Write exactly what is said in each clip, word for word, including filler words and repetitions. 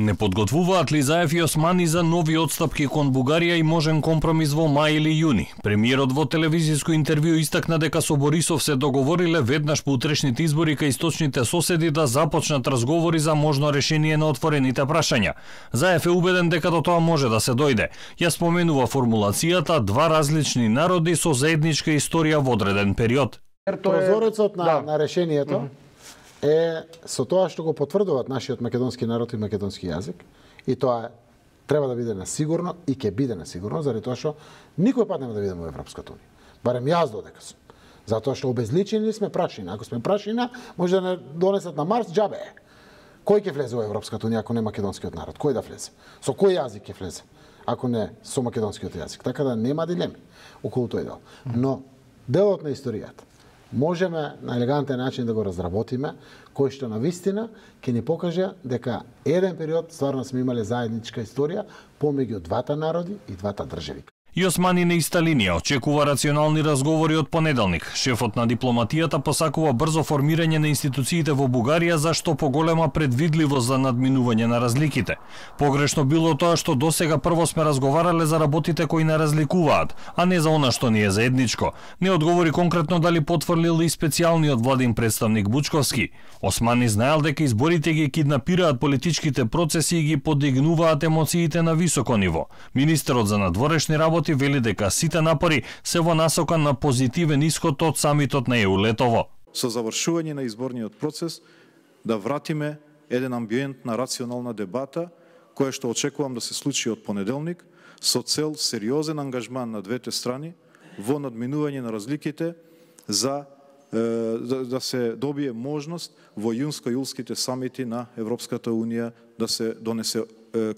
Не подготвуваат ли Заев и Османи за нови отстапки кон Бугарија и можен компромис во мај или јуни? Премиерот во телевизиско интервју истакна дека со Борисов се договориле веднаш по утрешните избори кај источните соседи да започнат разговори за можно решение на отворените прашања. Заев е убеден дека до тоа може да се дојде. Ја споменува формулацијата два различни народи со заедничка историја во одреден период. Прозорецот на, да. на решението mm -hmm. е со тоа што го потврдуваат нашиот македонски народ и македонски јазик, и тоа треба да биде на сигурно и ќе биде на сигурно, заради тоа што никој пат нема да бидеме во Европската унија. Барем јас додека сум. Затоа што обезличени сме прашина. Ако сме прашина, може да не донесат на Марс, џабе е. Кој ќе влезе во Европската унија ако не македонскиот народ? Кој да влезе? Со кој јазик ќе влезе? Ако не со македонскиот јазик. Така да нема дилеми околу тој дел. Но делот на историјата можеме на елегантен начин да го разработиме, кој што на вистина ќе ни покаже дека еден период стварно сме имале заедничка историја помеѓу двата народи и двата држави. И Османи на иста линија очекува рационални разговори од понеделник. Шефот на дипломатијата посакува брзо формирање на институциите во Бугарија за што поголема предвидливост за надминување на разликите. Погрешно било тоа што досега прво сме разговарале за работите кои не разликуваат, а не за она што ни е заедничко. Не одговори конкретно дали потврлил и специјалниот владин представник Бучковски. Османи знаел дека изборите ги киднапираат политичките процеси и ги подигнуваат емоциите на високо ниво. Министерот за надворешни работи вели дека сите напори се во насока на позитивен исход од самитот на ЕУ-Летово. Со завршување на изборниот процес да вратиме еден амбиент на рационална дебата, која што очекувам да се случи од понеделник, со цел сериозен ангажман на двете страни во надминување на разликите за да, да се добие можност во јунско-јулските самити на Европската унија да се донесе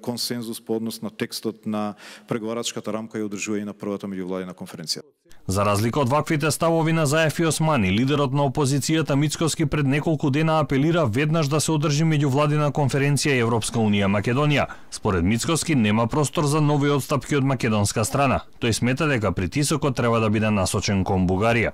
консензус по однос на текстот на преговарачката рамка и одржување на првата меѓувладина конференција. За разлика од ваквите ставови на Заев и Османи, лидерот на опозицијата Мицкоски пред неколку дена апелира веднаш да се одржи меѓувладина конференција Европска унија Македонија. Според Мицкоски нема простор за нови отстапки од македонска страна. Тој смета дека притисокот треба да биде насочен кон Бугарија.